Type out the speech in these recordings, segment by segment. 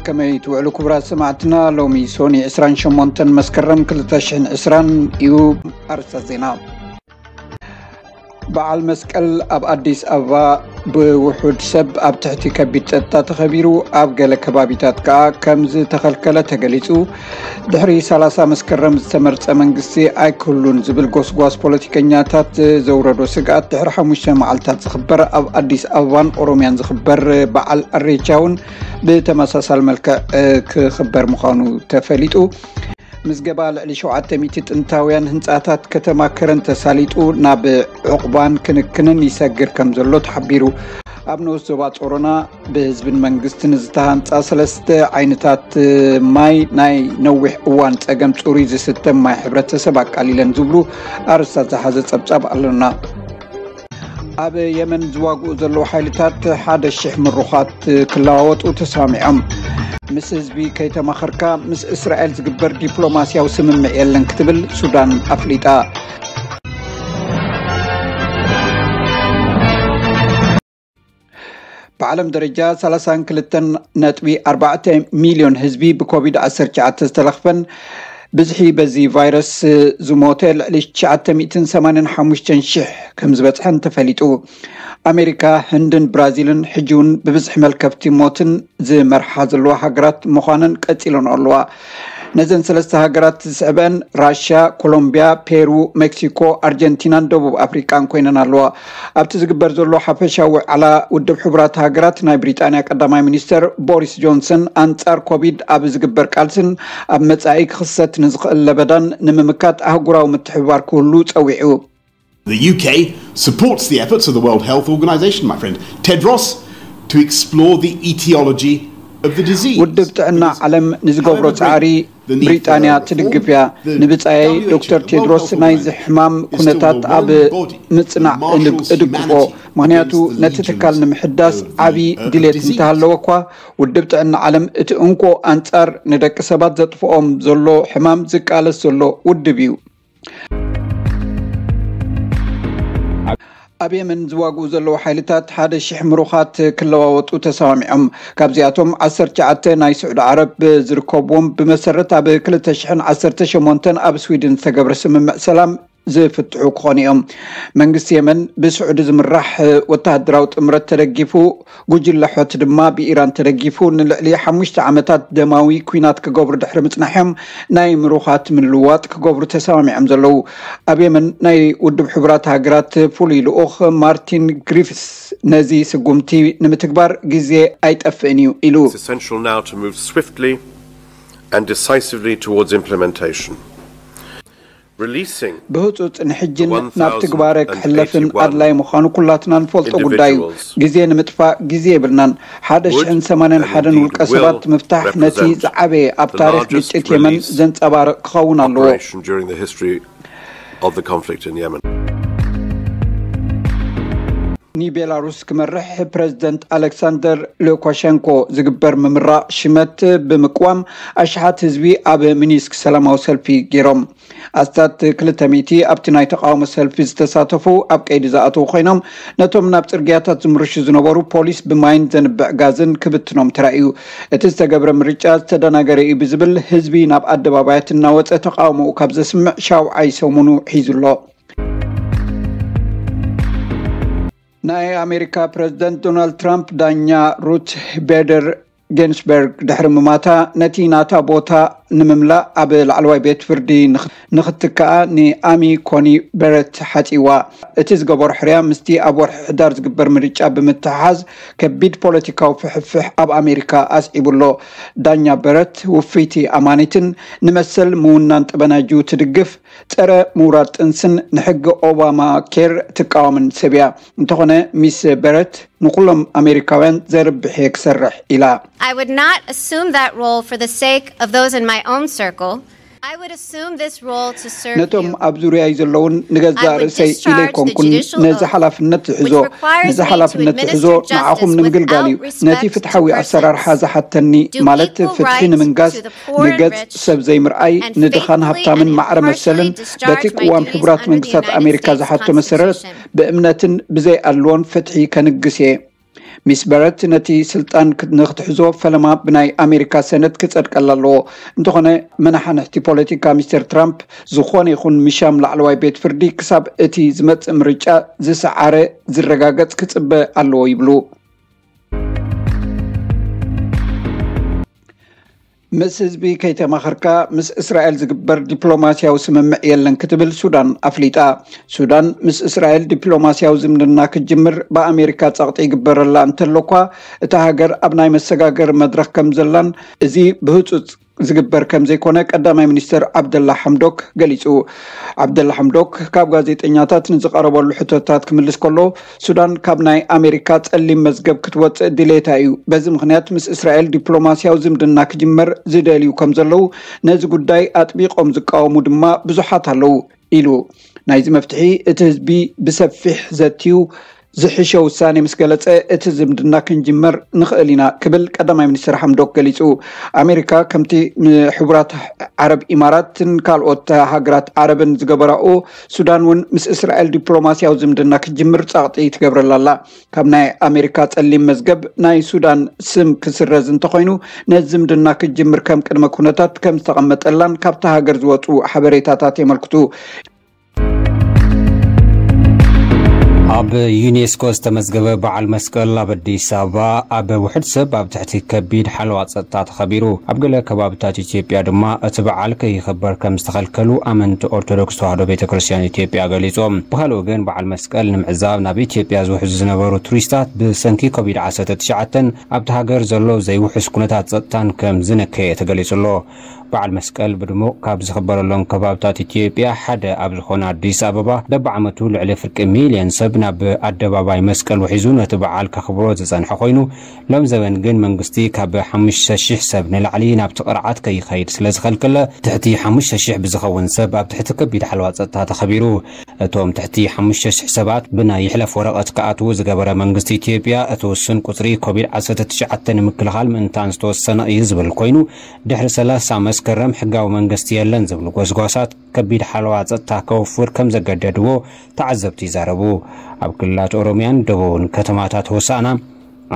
ከመይ ትውዕሉ ክቡራት ሰማዕትና? ሎሚ ሶኒ ዕስራን ሸሞንተን መስከረም ክልተ ሽሕን ዕስራን እዩ። ኣርእስታት ዜና። በዓል መስቀል ኣብ ኣዲስ ኣበባ ብውሑድ ሰብ ኣብ ትሕቲ ከቢድ ጸጥታ ተኸቢሩ፣ ኣብ ገለ ከባቢታት ከኣ ከም ዝተኸልከለ ተገሊጹ። ድሕሪ ሰላሳ መስከረም ዝተመርጸ መንግስቲ ኣይክህሉን ዝብል ጎስጓስ ፖለቲከኛታት ዘውረዶ ስግኣት፣ ድሕሪ ሓሙሽተ መዓልታት ዝኽበር ኣብ ኣዲስ ኣበባን ኦሮምያን ዝኽበር በዓል ኣሬቻ እውን ብተመሳሳል መልክዕ ክኽበር ምዃኑ ተፈሊጡ። ምዝገባ ልዕሊ ሸውዓተ ሚእቲ ጥንታውያን ህንጻታት ከተማ ከረን ተሳሊጡ ናብ ዕቑባን ክንክንን ይሰግር ከም ዘሎ ተሓቢሩ። ኣብ ንኡስ ዞባ ጾሮና ብህዝብን መንግስትን ዝተሃንጻ ሰለስተ ዓይነታት ማይ ናይ ነዊሕ እዋን ጸገም ጽሩይ ዝስተ ማይ ሕብረተሰብ ኣቃሊለን ዝብሉ ኣርእስታት ዝሓዘ ጸብጻብ ኣሎና። ኣብ የመን ዝዋግኡ ዘለዉ ሓይልታት ሓደ ሽሕ ምሩኻት ክለዋወጡ ተሰማሚዖም። ምስ ህዝቢ ከይተማኸርካ ምስ እስራኤል ዝግበር ዲፕሎማስያዊ ስምምዕ የለን ክትብል ሱዳን ኣፍሊጣ። ብዓለም ደረጃ ሰላሳን ክልተን ነጥቢ ኣርባዕተ ሚልዮን ህዝቢ ብኮቪድ ዓሰርተ ትሽዓተ ዝተለኽፈን ብዝሒ በዚ ቫይረስ ዝሞተ ልዕሊ ትሽዓተ ሚእትን ሰማንያን ሓሙሽተን ሽሕ ከም ዝበጽሐን ተፈሊጡ። ኣሜሪካ፣ ህንድን ብራዚልን ሕጂ እውን ብብዝሒ መልከፍቲ ሞትን ዝመርሓ ዘለዋ ሃገራት ምዃነን ቀጺለን ኣለዋ። ነዘን ሰለስተ ሃገራት ዝስዕበን ራሽያ፣ ኮሎምቢያ፣ ፔሩ፣ ሜክሲኮ፣ ኣርጀንቲናን ደቡብ ኣፍሪቃን ኮይነን ኣለዋ። ኣብቲ ዝግበር ዘሎ ሓፈሻዊ ዋዕላ ውድብ ሕቡራት ሃገራት፣ ናይ ብሪጣንያ ቀዳማይ ሚኒስተር ቦሪስ ጆንሰን ኣንጻር ኮቪድ ኣብ ዝግበር ቃልስን ኣብ መጻኢ ክኽሰት ንዝኽእል ለበዳን ንምምካት ኣህጉራዊ ምትሕብባር ክህሉ ጸዊዑ። The U K supports the efforts of the World Health Organization, my friend Tedros, to explore the etiology of the disease. ውድብ ጥዕና ዓለም ንዝገብሮ ጻዕሪ ብሪጣንያ ትድግፍ እያ። ንብጻየይ ዶክተር ቴድሮስ ናይዚ ሕማም ኩነታት ኣብ ምጽናዕ እድግፎ፣ ምኽንያቱ ነቲ ትካል ንምሕዳስ ዓቢ ድሌት እንተሃለወ እኳ፣ ውድብ ጥዕና ዓለም እቲ እንኮ ኣንጻር ንደቂ ሰባት ዘጥፍኦም ዘሎ ሕማም ዝቃለስ ዘሎ ውድብ እዩ። ኣብ የመን ዝዋግኡ ዘለዉ ሓይልታት ሓደ ሽሕ ምሩኻት ክለዋወጡ ተሰማሚዖም። ካብዚኣቶም ዓሰርተ ትሽዓተ ናይ ስዑዲ ዓረብ ዝርከብዎም፣ ብመሰረት ኣብ ክልተ ሽሕን ዓሰርተ ሸሞንተን ኣብ ስዊድን ዝተገብረ ስምምዕ ሰላም ዝፍትሑ ክኾኑ እዮም። መንግስቲ የመን ብስዑዲ ዝምራሕ ወተሃደራዊ ጥምረት ተደጊፉ፣ ጉጅለ ሖቲ ድማ ብኢራን ተደጊፉ ንልዕሊ ሓሙሽተ ዓመታት ደማዊ ኲናት ክገብሩ ድሕሪ ምጽናሖም፣ ናይ ምሩኻት ምልውዋጥ ክገብሩ ተሰማሚዖም ዘለዉ። ኣብ የመን ናይ ውድብ ሕቡራት ሃገራት ፍሉይ ልኡኽ ማርቲን ግሪፍስ ነዚ ስጉምቲ ንምትግባር ግዜ ኣይጠፍእን እዩ ኢሉ። It's essential now to move swiftly and decisively towards implementation. Releasing ብህጹጽ ንሕጅን ናብ ትግባረ ክሕለፍን ኣድላይ ምዃኑ ኩላትና ንፈልጦ ጉዳይ እዩ። ግዜ ንምጥፋእ ግዜ የብልናን። ሓደ ሽሕን ሰማንያን ሓደን ውልቀ ሰባት ምፍታሕ ነቲ ዝዓበየ ኣብ ታሪኽ ግጭት የመን ዘንጸባርቕ ክኸውን ኣለዎ። Operation during the history of the conflict in Yemen. ንቤላሩስ ክመርሕ ፕረዚደንት ኣሌክሳንደር ሉካሸንኮ ዝግበር ምምራቕ ሽመት ብምቅዋም ኣሽሓት ህዝቢ ኣብ ሚኒስክ ሰላማዊ ሰልፊ ገይሮም። ኣስታት ክልተ ሚእቲ ኣብቲ ናይ ተቃውሞ ሰልፊ ዝተሳተፉ ኣብ ቀይዲ ዝኣተዉ ኮይኖም፣ ነቶም ናብ ጽርግያታት ዝምርሹ ዝነበሩ ፖሊስ ብማይን ዘንብዕ ጋዝን ክብትኖም ተራእዩ። እቲ ዝተገብረ ምርጫ ዝተደናገረ እዩ ብዝብል ህዝቢ ናብ ኣደባባያት እናወጸ ተቃውሞኡ ካብ ዘስምዕ ሻውዓይ ሰሙኑ ሒዙ ኣሎ። ናይ ኣሜሪካ ፕረዚደንት ዶናልድ ትራምፕ ዳኛ ሩት ቤደር ጊንስበርግ ድሕሪ ምማታ፣ ነቲ ናታ ቦታ ንምምላእ ኣብ ላዕለዋይ ቤት ፍርዲ ንኽ- ንኽትክኣ ንኣሚ ኮኒ በረት ሓጺዋ። እቲ ዝገበሮ ሕርያ ምስቲ ኣብ ወርሒ ሕዳር ዝግበር ምርጫ ብምትሕሓዝ ከቢድ ፖለቲካዊ ፍሕፍሕ ኣብ ኣሜሪካ ኣስዒቡ ኣሎ። ዳኛ በረት ውፍይቲ ኣማኒትን ንመሰል ምውናን ጠበናጁ ትድግፍ፣ ጸረ ምውራድ ጥንስን ንሕጊ ኦባማ ኬር ትቃወምን ሰብ እያ። እንተኾነ ሚስ በረት ንኹሎም ኣሜሪካውያን ዘርብሕ እየ ክሰርሕ ኢላ። I would not assume that role for the sake of those in my own circle. I would assume this role to serve ነቶም you. ኣብ ዙርያይ ዘለውን ንገዛእ I would ርእሰይ ኢለ discharge the ኣይኮንኩን judicial ነዚ oath, ሓላፍነት ዝሕዞ። which requires ነዚ me to ሓላፍነት ዝሕዞ administer ንዓኹም justice ንምግልጋል እዩ። without ነቲ respect to ፍትሓዊ ኣሰራርሓ persons, ዝሓተኒ do ማለት equal ፍትሒ rights ንምንጋስ to the poor and ንገጽ rich, ሰብ ዘይምርኣይ and ንድኻን faithfully ሃብታምን and ማዕረ መሰልን impartially በቲ discharge my ቅዋም duties ሕቡራት under the መንግስታት United ኣሜሪካ States ዝሓቶ መሰረት Constitution. ብእምነትን ብዘይ ኣድልዎን ፍትሒ ከንግስ እየ። ሚስ በረት ነቲ ስልጣን ክ- ንክትሕዞ ፈለማ ብናይ ኣሜሪካ ሰነት ክጸድቀላ ኣለዎ። እንተኾነ፣ መናሓንሕቲ ፖለቲካ ሚስተር ትራምፕ፣ ዝኾነ ይኹን ምሻም ላዕለዋይ ቤት ፍርዲ ክሳብ እቲ ዝመጽእ ምርጫ ዝሰዓረ ዝረጋገጽ ክጽበ ኣለዎ ይብሉ። ምስ ህዝቢ ከይተማኸርካ ምስ እስራኤል ዝግበር ዲፕሎማሲያዊ ስምምዕ የለን ክትብል ሱዳን ኣፍሊጣ። ሱዳን ምስ እስራኤል ዲፕሎማሲያዊ ዝምድና ክትጅምር ብኣሜሪካ ጸቕጢ ይግበረላ እንተሎኳ፣ እታ ሃገር ኣብ ናይ መሰጋገር መድረኽ ከም ዘላን እዚ ብህጹጽ ዝግበር ከም ዘይኮነ ቀዳማይ ሚኒስትር ዓብደላ ሓምዶክ ገሊጹ። ዓብደላ ሓምዶክ ካብ ጋዜጠኛታት ንዝቐረበሉ ሕቶታት ክምልስ ከሎ፣ ሱዳን ካብ ናይ ኣሜሪካ ጸሊም መዝገብ ክትወጽእ ድሌታ እዩ። በዚ ምኽንያት ምስ እስራኤል ዲፕሎማሲያዊ ዝምድና ክጅመር ዝደልዩ ከም ዘለዉ፣ ነዚ ጉዳይ ኣጥቢቖም ዝቃወሙ ድማ ብዙሓት ኣለዉ ኢሉ። ናይዚ መፍትሒ እቲ ህዝቢ ብሰፊሕ ዘትዩ ዝሕሸ ውሳኔ ምስ ገለጸ፣ እቲ ዝምድና ክንጅመር ንኽእል ኢና ክብል ቀዳማይ ሚኒስትር ሓምዶክ ገሊጹ። ኣሜሪካ ከምቲ ንሕቡራት ዓረብ ኢማራትን ካልኦት ሃገራት ዓረብን ዝገበራኡ፣ ሱዳን እውን ምስ እስራኤል ዲፕሎማሲያዊ ዝምድና ክትጅምር ጸቕጢ ትገብረላ ኣላ። ካብ ናይ ኣሜሪካ ጸሊም መዝገብ ናይ ሱዳን ስም ክስረዝ እንተኾይኑ፣ ነዚ ዝምድና ክትጅምር ከም ቅድመ ኩነታት ከም ዝተቐመጠላን ካብታ ሃገር ዝወጹ ሓበሬታታት የመልክቱ። ኣብ ዩኔስኮ ዝተመዝገበ በዓል መስቀል ኣብ ኣዲስ ኣበባ ኣብ ውሕድ ሰብ ኣብ ትሕቲ ከቢድ ሓለዋ ጸጥታ ተኸቢሩ። ኣብ ገለ ከባብታት ኢትዮጵያ ድማ እቲ በዓል ከይኸበር ከም ዝተኸልከሉ ኣመንቲ ኦርቶዶክስ ተዋህዶ ቤተ ክርስቲያን ኢትዮጵያ ገሊጾም። ብኻልእ ወገን በዓል መስቀል ንምዕዛብ ናብ ኢትዮጵያ ዝውሕዙ ዝነበሩ ቱሪስታት ብሰንኪ ኮቪድ ዓሰርተ ትሽዓተ ኣብቲ ሃገር ዘሎ ዘይውሑስ ኩነታት ጸጥታን ከም ዝነከየ ተገሊጹ ኣሎ። በዓል መስቀል ብድሙቕ ካብ ዝኽበረሎም ከባብታት ኢትዮጵያ ሓደ ኣብ ዝኾነ ኣዲስ ኣበባ በብዓመቱ ልዕሊ ፍርቂ ሚልዮን ሰብ ናብ ኣደባባይ መስቀል ውሒዙ ነቲ በዓል ከኽብሮ ዝጸንሐ ኮይኑ፣ ሎም ዘበን ግን መንግስቲ ካብ ሓሙሽተ ሺሕ ሰብ ንላዕሊ ናብቲ ቅርዓት ከይኸይድ ስለ ዝኸልከለ ትሕቲ ሓሙሽተ ሺሕ ብዝኸውን ሰብ ኣብ ትሕቲ ከቢድ ሓለዋ ጸጥታ ተኸቢሩ። እቶም ትሕቲ ሓሙሽተ ሺሕ ሰባት ብናይ ይሕለፍ ወረቐት ክኣትዉ ዝገበረ መንግስቲ ኢትዮጵያ እቲ ውሱን ቁጽሪ ኮቪድ ዓሰርተ ትሽዓተ ንምክልኻል ምእንታን ዝተወሰነ እዩ ዝብል ኮይኑ፣ ድሕሪ ሰላሳ መስከረም ሕጋዊ መንግስቲ የለን ዝብሉ ጎስጓሳት ከቢድ ሓለዋ ጸጥታ ከወፍር ከም ዘገደድዎ ተዓዘብቲ ይዛረቡ። ኣብ ክልላት ኦሮሚያን ደቡብን ከተማታት ሆሳና፣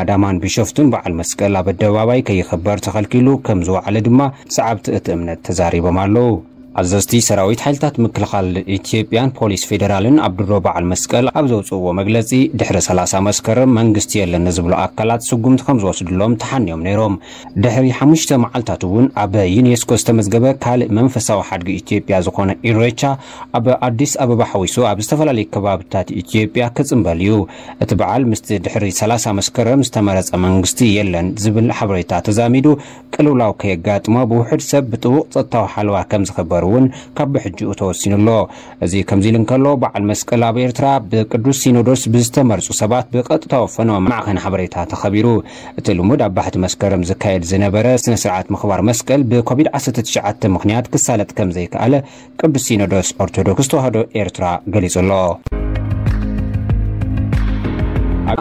ኣዳማን ቢሾፍቱን በዓል መስቀል ኣብ ኣደባባይ ከይኸበር ተኸልኪሉ ከም ዝወዓለ ድማ ሰዓብቲ እቲ እምነት ተዛሪቦም ኣለዉ። ኣዘዝቲ ሰራዊት ሓይልታት ምክልኻል ኢትዮጵያን ፖሊስ ፌደራልን ኣብ ድሮ በዓል መስቀል ኣብ ዘውፅእዎ መግለፂ፣ ድሕሪ ሰላሳ መስከረም መንግስቲ የለን ንዝብሉ ኣካላት ስጉምቲ ከም ዝወስድሎም ተሓንዮም ነይሮም። ድሕሪ ሓሙሽተ መዓልታት እውን ኣብ ዩኔስኮ ዝተመዝገበ ካልእ መንፈሳዊ ሓድጊ ኢትዮጵያ ዝኾነ ኢሬቻ ኣብ ኣዲስ ኣበባ ሓዊሱ ኣብ ዝተፈላለዩ ከባብታት ኢትዮጵያ ክጽንበል እዩ። እቲ በዓል ምስቲ ድሕሪ ሰላሳ መስከረም ዝተመረጸ መንግስቲ የለን ዝብል ሓበሬታ ተዛሚዱ ቅልውላው ከየጋጥሞ ብውሑድ ሰብ ብጥቡቕ ጸጥታዊ ሓለዋ ከም ዝኽበር እውን ካብ ብሕጂኡ ተወሲኑ ኣሎ። እዚ ከምዚ ኢሉ እንከሎ፣ በዓል መስቀል ኣብ ኤርትራ ብቅዱስ ሲኖዶስ ብዝተመርጹ ሰባት ብቐጥታዊ ፈነወ ማዕኸን ሓበሬታ ተኸቢሩ። እቲ ልሙድ ኣብ ባሕቲ መስከረም ዝካየድ ዝነበረ ስነ ስርዓት ምኽባር መስቀል ብኮቪድ ዓሰርተ ትሽዓተ ምኽንያት ክሳለጥ ከም ዘይከኣለ ቅዱስ ሲኖዶስ ኦርቶዶክስ ተዋህዶ ኤርትራ ገሊጹ ኣሎ።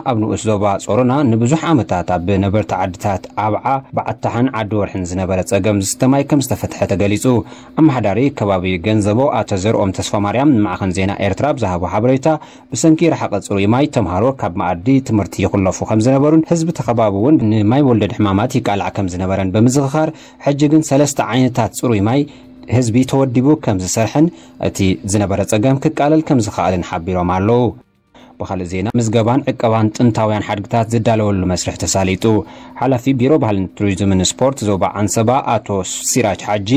ኣብ ንኡስ ዞባ ጾሮና ንብዙሕ ዓመታት ኣብ ነበርቲ ዓድታት ኣብዓ፣ በዓታሕን ዓዲ ወርሕን ዝነበረ ጸገም ዝስተ ማይ ከም ዝተፈትሐ ተገሊጹ። ኣመሓዳሪ ከባቢ ገንዘቦ ኣቶ ዘርኦም ተስፋ ማርያም ንማዕኸን ዜና ኤርትራ ብዝሃቦ ሓበሬታ፣ ብሰንኪ ረሓቐ ጽሩይ ማይ ተምሃሮ ካብ መኣዲ ትምህርቲ ይኹለፉ ከም ዝነበሩን ህዝቢ ተኸባቢ እውን ንማይ ወለድ ሕማማት ይቃላዕ ከም ዝነበረን ብምዝኽኻር፣ ሕጂ ግን ሰለስተ ዓይነታት ጽሩይ ማይ ህዝቢ ተወዲቡ ከም ዝሰርሐን እቲ ዝነበረ ጸገም ክቃለል ከም ዝኸኣልን ሓቢሮም ኣለዉ። ብኻልእ ዜና፣ ምዝገባን ዕቀባን ጥንታውያን ሓድግታት ዝዳለወሉ መስርሕ ተሳሊጡ። ሓላፊ ቢሮ ባህልን ቱሪዝምን ስፖርት ዞባ ዓንሰባ ኣቶ ሲራጅ ሓጂ፣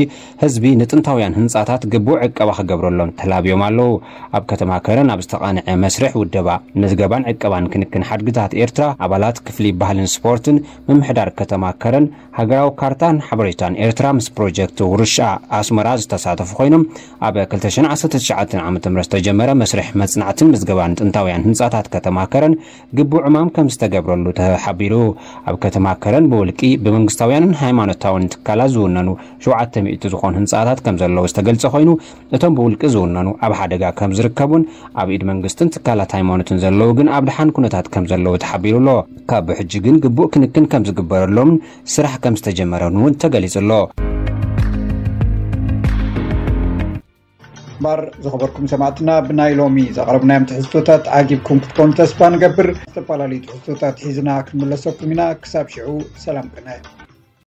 ህዝቢ ንጥንታውያን ህንጻታት ግቡእ ዕቀባ ክገብረሎም ተላብዮም ኣለዉ። ኣብ ከተማ ከረን ኣብ ዝተቓንዐ መስርሕ ውደባ ምዝገባን ዕቀባን ክንክን ሓድግታት ኤርትራ፣ ኣባላት ክፍሊ ባህልን ስፖርትን ምምሕዳር ከተማ ከረን፣ ሃገራዊ ካርታን ሓበሬታን ኤርትራ ምስ ፕሮጀክት ውርሻ ኣስመራ ዝተሳተፉ ኮይኖም፣ ኣብ ክልተ ሽሕን ዓሰርተ ትሽዓተን ዓመተ ምህረት ዝተጀመረ መስርሕ መጽናዕትን ምዝገባን ጥንታውያን ህንጻታት ከተማ ከረን ግቡእ ዕማም ከም ዝተገብረሉ ተሓቢሩ። ኣብ ከተማ ከረን ብውልቂ፣ ብመንግስታውያንን ሃይማኖታውን ትካላት ዝውነኑ ሸውዓተ ሚእቲ ዝኾኑ ህንጻታት ከም ዘለዉ ዝተገልጸ ኮይኑ፣ እቶም ብውልቂ ዝውነኑ ኣብ ሓደጋ ከም ዝርከቡን ኣብ ኢድ መንግስትን ትካላት ሃይማኖትን ዘለዉ ግን ኣብ ደሓን ኩነታት ከም ዘለዉ ተሓቢሩ ኣሎ። ካብ ብሕጂ ግን ግቡእ ክንክን ከም ዝግበረሎምን ስራሕ ከም ዝተጀመረን እውን ተገሊጹ ኣሎ። እምበር ዝኸበርኩም ሰማዕትና፣ ብናይ ሎሚ ዘቕረብናዮም ትሕዝቶታት ዓጊብኩም ክትኮኑ ተስፋ ንገብር። ዝተፈላለዩ ትሕዝቶታት ሒዝና ክንምለሰኩም ኢና። ክሳብ ሽዑ ሰላም ቅነ።